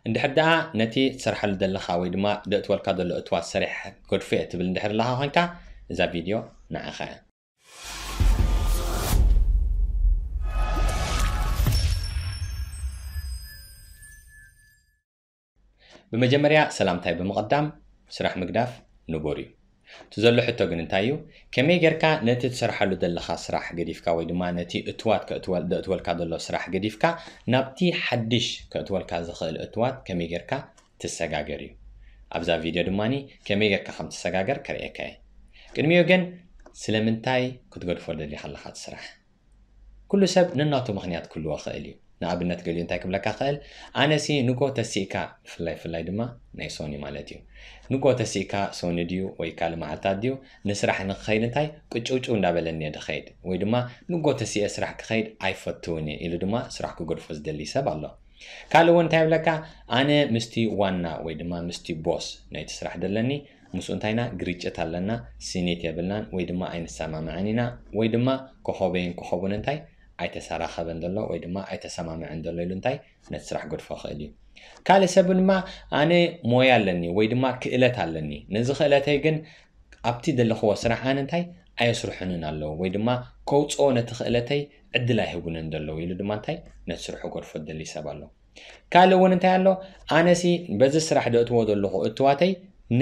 እንድሕር ደኣ ነቲ ትሰርሓሉ ዘለኻ ወይ ድማ ደእትወልካ ዘሎ እትዋት ሰሪሕ ክገድፎ እየ ትብል እንድሕር ኣለኻ ኮይንካ፣ እዛ ቪድዮ ንዓኻ እያ። ብመጀመርያ ሰላምታይ ብምቕዳም፣ ስራሕ ምግዳፍ ንቡር እዩ። እቲ ዘሎ ሕቶ ግን እንታይ እዩ? ከመይ ጌርካ ነቲ ትሰርሓሉ ዘለኻ ስራሕ ገዲፍካ ወይ ድማ ነቲ እትዋት ከእትወል-፣ ደእትወልካ ዘሎ ስራሕ ገዲፍካ ናብቲ ሓድሽ ከእትወልካ ዝኽእል እትዋት ከመይ ጌርካ ትሰጋገር እዩ። ኣብዛ ቪድዮ ድማኒ ከመይ ጌርካ ከም ትሰጋገር ከርእየካ እየ። ቅድሚኡ ግን ስለምንታይ ክትገድፎ ደሊኻ ኣለኻ እቲ ስራሕ? ኩሉ ሰብ ነናቱ ምኽንያት ክህልዎ ክእል እዩ። ንኣብነት ገሊኡ እንታይ ክብለካ ክእል፣ ኣነሲ ንጎ ተሲእካ፣ ብፍላይ ፍላይ ድማ ናይ ሶኒ ማለት እዩ። ንጎ ተሲእካ ሶኒ ድዩ ወይ ካልእ መዓልታት ድዩ ንስራሕ ንክኸይድ እንታይ ቅጭውጭው እንዳበለኒ እየ ድኸይድ፣ ወይ ድማ ንጎ ተሲኤ ስራሕ ክኸይድ ኣይፈትውን እየ ኢሉ ድማ ስራሕ ክገድፎ ዝደሊ ሰብ ኣሎ። ካልእ እውን እንታይ ይብለካ፣ ኣነ ምስቲ ዋና ወይ ድማ ምስቲ ቦስ ናይቲ ስራሕ ደለኒ ምስኡ እንታይ ኢና ግርጭት ኣለና፣ ስኒት የብልናን ወይ ድማ ኣይንሰማማዕን ኢና ወይ ድማ ኮኸበይን ኮኸቡን እንታይ ኣይተሰራኸበን ዘሎ ወይ ድማ ኣይተሰማምዐን ዘሎ ኢሉ እንታይ ነቲ ስራሕ ገድፎ ክእል እዩ። ካልእ ሰብ ድማ ኣነ ሞያ ኣለኒ ወይ ድማ ክእለት ኣለኒ፣ ነዚ ክእለተይ ግን ኣብቲ ዘለኽዎ ስራሕ ኣነ እንታይ ኣየስርሑንን ኣለዉ ወይ ድማ ከውፅኦ ነቲ ክእለተይ ዕድል ኣይህቡንን ዘለዉ ኢሉ ድማ እንታይ ነቲ ስርሑ ገድፎ ዝደሊ ሰብ ኣሎ። ካልእ እውን እንታይ ኣሎ፣ ኣነሲ በዚ ስራሕ ደእትዎ ዘለኹ እትዋተይ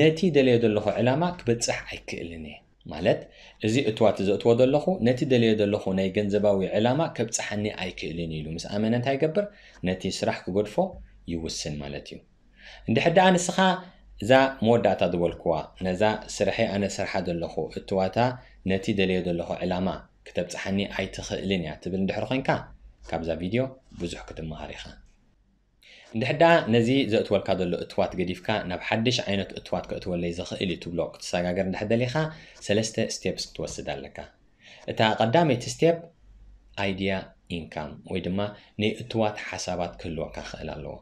ነቲ ደልዮ ዘለኹ ዕላማ ክበፅሕ ኣይክእልን እየ። ማለት እዚ እትዋት ዘእትዎ ዘለኹ ነቲ ደልዮ ዘለኹ ናይ ገንዘባዊ ዕላማ ከብፅሓኒ ኣይክእልን እዩ ኢሉ ምስ ኣመነ እንታይ ይገብር? ነቲ ስራሕ ክገድፎ ይውስን ማለት እዩ። እንድሕር ደኣ ንስኻ እዛ መወዳእታ ዝበልኩዋ ነዛ ስርሐይ ኣነ ስርሓ ዘለኹ እትዋታ ነቲ ደልዮ ዘለኹ ዕላማ ክተብፅሓኒ ኣይትኽእልን እያ ትብል እንድሕር ኮይንካ ካብዛ ቪድዮ ብዙሕ ክትመሃር ኢኻ። እንድሕር ደኣ ነዚ ዘእትወልካ ዘሎ እትዋት ገዲፍካ ናብ ሓድሽ ዓይነት እትዋት ከእትወለይ ዝኽእል እዩ ትብሎ ክትሰጋገር እንድሕር ደሊኻ ሰለስተ ስቴፕስ ክትወስድ ኣለካ። እታ ቀዳመይቲ ስቴፕ ኣይድያ ኢንካም ወይ ድማ ናይ እትዋት ሓሳባት ክህልወካ ክኽእል ኣለዎ።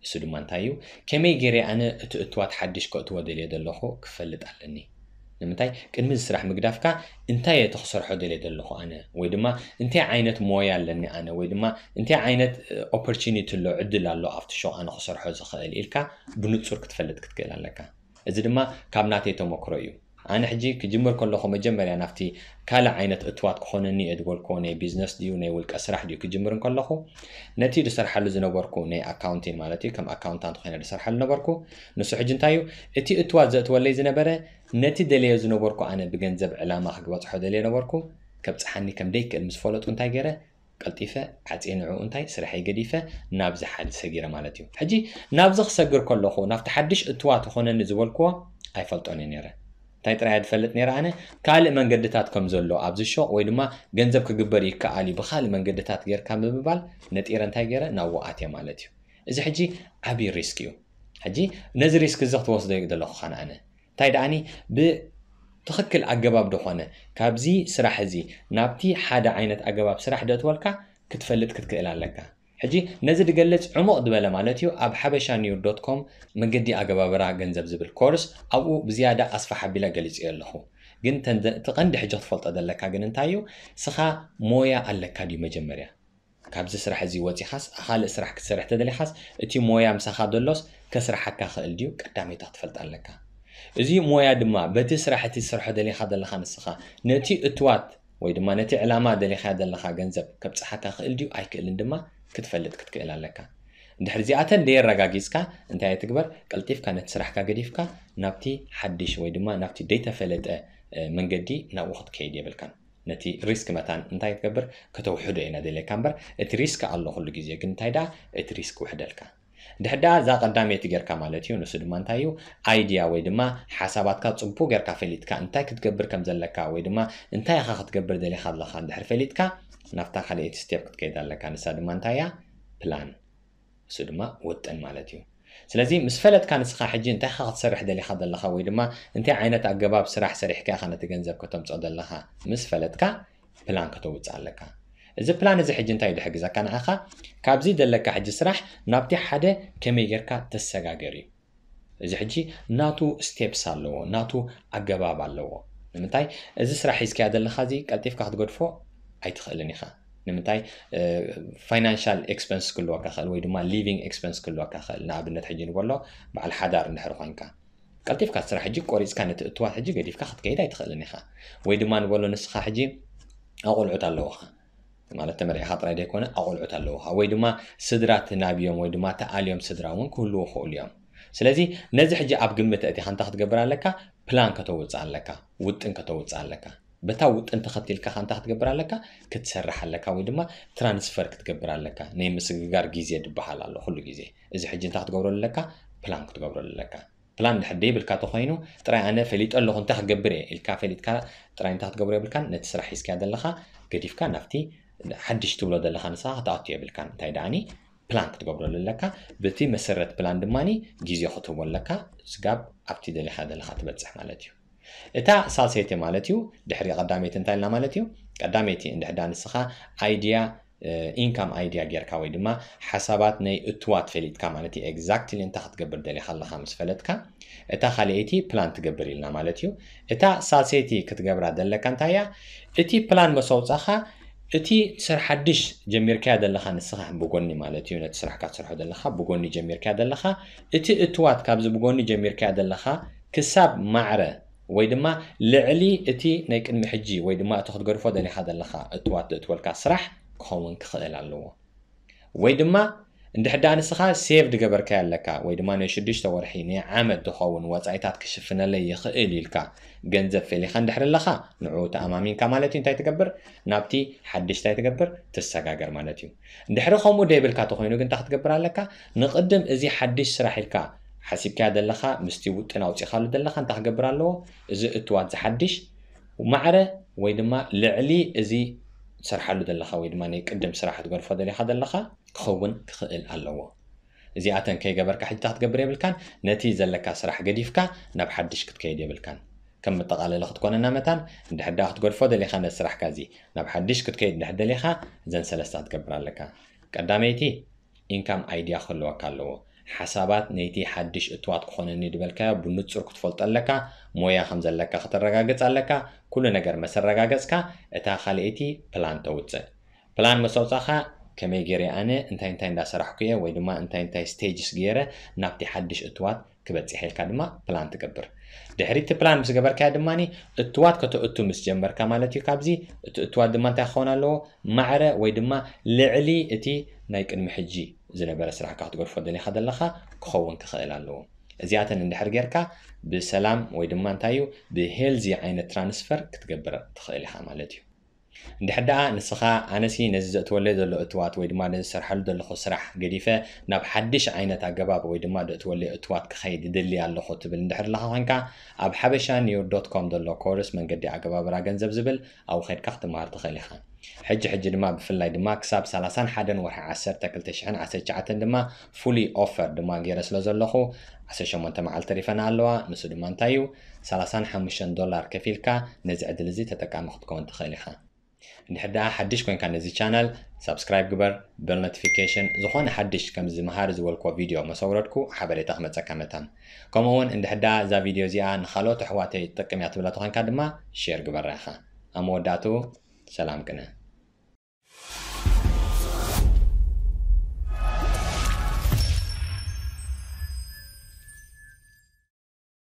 እሱ ድማ እንታይ እዩ? ከመይ ገይረ ኣነ እቲ እትዋት ሓድሽ ከእትዎ ደልየ ዘለኹ ክፈልጥ ኣለኒ። ንምንታይ ቅድሚ እዚ ስራሕ ምግዳፍካ እንታይ እየ እቲ ክሰርሖ ደልየ ዘለኹ ኣነ ወይ ድማ እንታይ ዓይነት ሞያ ኣለኒ ኣነ ወይ ድማ እንታይ ዓይነት ኦፖርቹኒቲ ኣሎ ዕድል ኣሎ ኣብቲ ሾቕ ኣነ ክሰርሖ ዝኽእል ኢልካ ብንጹር ክትፈልጥ ክትክእል ኣለካ። እዚ ድማ ካብ ናተይ ተመክሮ እዩ። ኣነ ሕጂ ክጅምር ከለኹ መጀመርያ ናብቲ ካልእ ዓይነት እትዋት ክኾነኒ እየ ዝበልክዎ ናይ ቢዝነስ ድዩ ናይ ውልቀ ስራሕ ድዩ ክጅምር እንከለኹ ነቲ ዝሰርሓሉ ዝነበርኩ ናይ ኣካውንቲን ማለት እዩ ከም ኣካውንታንት ኮይነ ዝሰርሓሉ ነበርኩ። ንሱ ሕጂ እንታይ እዩ እቲ እትዋት ዘእትወለይ ዝነበረ ነቲ ደልዮ ዝነበርኩ ኣነ ብገንዘብ ዕላማ ክግበፅሖ ደልየ ነበርኩ ከብፅሓኒ ከም ደይክእል ምስ ፈለጡ እንታይ ገይረ ቀልጢፈ ዓፅየ ንዕኡ እንታይ ስርሐይ ገዲፈ ናብዚ ሓዲ ሰጊረ ማለት እዩ። ሕጂ ናብዚ ክሰግር ከለኹ ናብቲ ሓድሽ እትዋት ዝኾነኒ ዝበልክዎ ኣይፈልጦን እየ ነይረ። እንታይ ጥራይ እየ ዝፈልጥ ነይረ ኣነ ካልእ መንገድታት ከም ዘሎ ኣብዚ ሾቕ ወይ ድማ ገንዘብ ክግበር ይከኣል እዩ ብካልእ መንገድታት ጌርካ ብምባል ነጢረ እንታይ ገይረ ናብኡ ኣትየ ማለት እዩ። እዚ ሕጂ ዓብዪ ሪስክ እዩ። ሕጂ ነዚ ሪስክ እዚ ክትወስዶ እዩ ዘለኹ ካን ኣነ እንታይ ደኣኒ ብትኽክል ኣገባብ ዝኾነ ካብዚ ስራሕ እዚ ናብቲ ሓደ ዓይነት ኣገባብ ስራሕ ደእትወልካ ክትፈልጥ ክትክእል ኣለካ። ሕጂ ነዚ ድገልጽ ዕሙቕ ዝበለ ማለት እዩ ኣብ ሓበሻ ኒውር ዶት ኮም መገዲ ኣገባብራ ገንዘብ ዝብል ኮርስ ኣብኡ ብዝያዳ ኣስፋሕ ኣቢለ ገሊጽዮ ኣለኹ። ግን ተን- እቲ ቀንዲ ሕጂ ክትፈልጦ ዘለካ ግን እንታይ እዩ ስኻ ሞያ ኣለካ ድዩ መጀመርያ ካብዚ ስራሕ እዚ ወፂኻስ ካልእ ስራሕ ክትሰርሕ ተደሊኻስ እቲ ሞያ ምሳኻ ዘሎስ ከስርሓካ ክእል ድዩ ቀዳመይታ ክትፈልጥ ኣለካ። እዚ ሞያ ድማ በቲ ስራሕ እቲ ትሰርሖ ደሊኻ ዘለኻ ንስኻ ነቲ እትዋት ወይ ድማ ነቲ ዕላማ ደሊኻ ዘለኻ ገንዘብ ከብፅሓካ ክእል ድዩ ኣይክእልን ድማ ክትፈልጥ ክትክእል ኣለካ። እንድሕር እዚኣተን ደየረጋጊፅካ እንታይ ትግበር ቀልጢፍካ ነቲ ስራሕካ ገዲፍካ ናብቲ ሓድሽ ወይ ድማ ናብቲ ደይተፈለጠ መንገዲ ናብኡ ክትከይድ የብልካን። ነቲ ሪስክ መታን እንታይ ክትገብር ከተውሕዶ ኢና ደልየካ እምበር እቲ ሪስክ ኣሎ ኩሉ ግዜ ግን እንታይ ደኣ እቲ ሪስክ ውሕደልካ። ድሕዳ እዛ ቀዳመይቲ ጌርካ ማለት እዩ ንሱ ድማ እንታይ እዩ ኣይድያ ወይ ድማ ሓሳባትካ ጽቡቅ ጌርካ ፈሊጥካ እንታይ ክትገብር ከም ዘለካ ወይ ድማ እንታይ ኢኻ ክትገብር ደሊኻ ኣለኻ እንድሕር ፈሊጥካ ናብታ ካልኣይቲ ስቴፕ ክትከይድ ኣለካ ንሳ ድማ እንታይ እያ ፕላን እሱ ድማ ውጥን ማለት እዩ። ስለዚ ምስ ፈለጥካ ንስኻ ሕጂ እንታይ ኢኻ ክትሰርሕ ደሊኻ ዘለኻ ወይ ድማ እንታይ ዓይነት ኣገባብ ስራሕ ሰሪሕካ ኢኻ ነቲ ገንዘብ ከተምፅኦ ዘለኻ ምስ ፈለጥካ ፕላን ከተውፅእ ኣለካ። እዚ ፕላን እዚ ሕጂ እንታይ ድሕግዘካ ንዓኻ ካብዚ ዘለካ ሕጂ ስራሕ ናብቲ ሓደ ከመይ ጌርካ ተሰጋገር እዩ። እዚ ሕጂ ናቱ ስቴፕስ ኣለዎ ናቱ ኣገባብ ኣለዎ። ንምንታይ እዚ ስራሕ ሒዝካያ ዘለኻ እዚ ቀልጢፍካ ክትገድፎ ኣይትኽእልን ኢኻ። ንምንታይ? ፋይናንሻል ኤክስፐንስ ክህልወካ ይኽእል ወይ ድማ ሊቪንግ ኤክስፐንስ ክህልወካ ይኽእል። ንኣብነት ሕጂ ንበሎ በዓል ሓዳር እንድሕር ኮይንካ፣ ቀልጢፍካ ስራሕ ሕጂ ቆሪፅካ ነቲ እትዋት ሕጂ ገዲፍካ ክትከይድ ኣይትኽእልን ኢኻ። ወይ ድማ ንበሎ ንስኻ ሕጂ ኣቆልዑት ኣለውኻ፣ ማለት ተመርዒኻ ጥራይ ዘይኮነ ኣቆልዑት ኣለውኻ፣ ወይ ድማ ስድራ ትናብዮም ወይ ድማ ተኣልዮም ስድራ እውን ክህልዉ ይኽእሉ እዮም። ስለዚ ነዚ ሕጂ ኣብ ግምት ኣእቲኻ እንታይ ክትገብር ኣለካ? ፕላን ከተውፅእ ኣለካ፣ ውጥን ከተውፅእ ኣለካ። በታ ውጥን ተኸቲልካ እንታይ ክትገብር ኣለካ? ክትሰርሕ ኣለካ ወይ ድማ ትራንስፈር ክትገብር ኣለካ። ናይ ምስግጋር ግዜ ዝበሃል ኣሎ ኩሉ ግዜ። እዚ ሕጂ እንታይ ክትገብረሉ ኣለካ? ፕላን ክትገብረሉ ኣለካ። ፕላን ድሕር ደይብልካ ተኾይኑ ጥራይ ኣነ ፈሊጠ ኣለኹ እንታይ ክገብር እየ ኢልካ ፈሊጥካ ጥራይ እንታይ ክትገብሮ የብልካን። ነቲ ስራሕ ሒዝካ ዘለኻ ገዲፍካ ናብቲ ሓድሽ ትብሎ ዘለኻ ንስኻ ክትኣቱ የብልካን። እንታይ ደኣኒ ፕላን ክትገብረሉ ኣለካ። በቲ መሰረት ፕላን ድማ ግዜ ክትህቦ ኣለካ። ስጋብ ኣብቲ ደሊኻ ዘለኻ ትበፅሕ ማለት እዩ። እታ ሳልሰይቲ ማለት እዩ ድሕሪ ቀዳመይቲ እንታይ ኢልና ማለት እዩ? ቀዳመይቲ እንድሕዳ ንስኻ ኣይድያ ኢንካም ኣይድያ ጌርካ ወይ ድማ ሓሳባት ናይ እትዋት ፈሊጥካ ማለት እዩ። ኤግዛክትሊ እንታይ ክትገብር ደሊኻ ኣለኻ ምስ ፈለጥካ እታ ካልኣይቲ ፕላን ትገብር ኢልና ማለት እዩ። እታ ሳልሰይቲ ክትገብራ ዘለካ እንታይ እያ? እቲ ፕላን መሰውፃኻ እቲ ስራሕ ሓድሽ ጀሚርካያ ዘለኻ ንስኻ ብጎኒ ማለት እዩ፣ ነቲ ስራሕካ ትሰርሖ ዘለኻ ብጎኒ ጀሚርካያ ዘለኻ፣ እቲ እትዋት ካብዚ ብጎኒ ጀሚርካያ ዘለኻ ክሳብ ማዕረ ወይ ድማ ልዕሊ እቲ ናይ ቅድሚ ሕጂ ወይ ድማ እቲ ክትገድፎ ደሊኻ ዘለኻ እትዋት ዘእትወልካ ስራሕ ክኸውን ክኽእል ኣለዎ። ወይ ድማ እንድሕዳ ንስኻ ሴቭ ድገበርካዮ ኣለካ ወይ ድማ ናይ ሽዱሽተ ወርሒ ናይ ዓመት ዝኸውን ወፃኢታት ክሽፍነለይ ይኽእል ኢልካ ገንዘብ ፈሊኻ እንድሕር ኣለኻ ንዕኡ ተኣማሚንካ ማለት እዩ። እንታይ ትገብር? ናብቲ ሓድሽ እንታይ ትገብር? ትሰጋገር ማለት እዩ። እንድሕሪ ከምኡ ደይብልካ ተኾይኑ ግን እንታይ ክትገብር ኣለካ? ንቕድም እዚ ሓድሽ ስራሕ ኢልካ ሓሲብካዮ ዘለኻ ምስቲ ውጥን ኣውፂኻሉ ዘለኻ እንታይ ክገብር ኣለዎ? እዚ እትዋት ዝሓድሽ ማዕረ ወይ ድማ ልዕሊ እዚ ትሰርሓሉ ዘለኻ ወይ ድማ ናይ ቅድም ስራሕ ትገድፎ ደሊኻ ዘለኻ ክኸውን ክኽእል ኣለዎ። እዚኣተን ከይገበርካ ሕጂ እንታይ ክትገብር የብልካን። ነቲ ዘለካ ስራሕ ገዲፍካ ናብ ሓድሽ ክትከይድ የብልካን። ከም መጠቓለሊ ክትኮነና መታን እንድሕዳ ክትገድፎ ደሊኻ ነቲ ስራሕካ እዚ ናብ ሓድሽ ክትከይድ እንድሕር ደሊኻ እዘን ሰለስታ ክትገብር ኣለካ። ቀዳመይቲ ኢንካም ኣይድያ ክህልወካ ኣለዎ። ሓሳባት ነይቲ ሓድሽ እትዋት ክኾነኒ ዝበልካዮ ብንጹር ክትፈልጦ ኣለካ። ሞያ ከም ዘለካ ከተረጋግጽ ኣለካ። ኩሉ ነገር መሰረጋገጽካ እታ ካልኣይቲ ፕላን ተውጽእ። ፕላን መሰውጻኻ ከመይ ገይረ ኣነ እንታይ እንታይ እንዳሰራሕኩ እየ ወይ ድማ እንታይ እንታይ ስቴጅስ ገይረ ናብቲ ሓድሽ እትዋት ክበጽሕ ኢልካ ድማ ፕላን ትገብር። ድሕሪ እቲ ፕላን ምስ ገበርካዮ ድማ እትዋት ከተእቱ ምስ ጀመርካ ማለት እዩ። ካብዚ እቲ እትዋት ድማ እንታይ ክኸውን ኣለዎ? ማዕረ ወይ ድማ ልዕሊ እቲ ናይ ቅድሚ ሕጂ ዝነበረ ስራሕካ ክትገድፎ ደሊኻ ዘለኻ ክኸውን ክኽእል ኣለዎ። እዚኣተን እንድሕር ጌርካ ብሰላም ወይ ድማ እንታይ እዩ ብሄልዚ ዓይነት ትራንስፈር ክትገብር ትኽእል ኢኻ ማለት እዩ። እንድሕር ደኣ ንስኻ ኣነሲ ነዚ ዘእትወለይ ዘሎ እትዋት ወይ ድማ ነዚ ዝሰርሓሉ ዘለኹ ስራሕ ገዲፈ ናብ ሓድሽ ዓይነት ኣገባብ ወይ ድማ ዘእትወለይ እትዋት ክኸይድ ይደሊ ኣለኹ ትብል እንድሕር ኣለኻ ኮንካ ኣብ ሓበሻ ኒውር ዶት ኮም ዘሎ ኮርስ መንገዲ ኣገባብራ ገንዘብ ዝብል ኣብኡ ከድካ ክትመሃር ትኽእል ኢኻ። ሕጂ ሕጂ ድማ ብፍላይ ድማ ክሳብ ሰላሳን ሓደን ወርሒ ዓሰርተ ክልተ ሽሕን ዓሰርተ ትሽዓተን ድማ ፉሊ ኦፈር ድማ ገይረ ስለ ዘለኹ ዓሰርተ ሸሞንተ መዓልቲ ተሪፈና ኣለዋ። ንሱ ድማ እንታይ እዩ? ሰላሳን ሓሙሽተን ዶላር ከፊልካ ነዚ ዕድል እዚ ተጠቃሚ ክትከውን ትኽእል ኢኻ። እንድሕር ደኣ ሓድሽ ኮይንካ ነዚ ቻናል ሳብስክራይብ ግበር፣ በል ኖቲፊኬሽን ዝኾነ ሓድሽ ከምዚ መሃሪ ዝበልክዎ ቪድዮ መሰውረድኩ ሓበሬታ ክመፀካ መታን። ከምኡ እውን እንድሕር ደኣ እዛ ቪድዮ እዚኣ ንኻልኦት ኣሕዋተይ ትጠቅም እያ ትብላ ተኾንካ ድማ ሼር ግበራ ኢኻ። ኣብ መወዳእትኡ ሰላም ቅነ።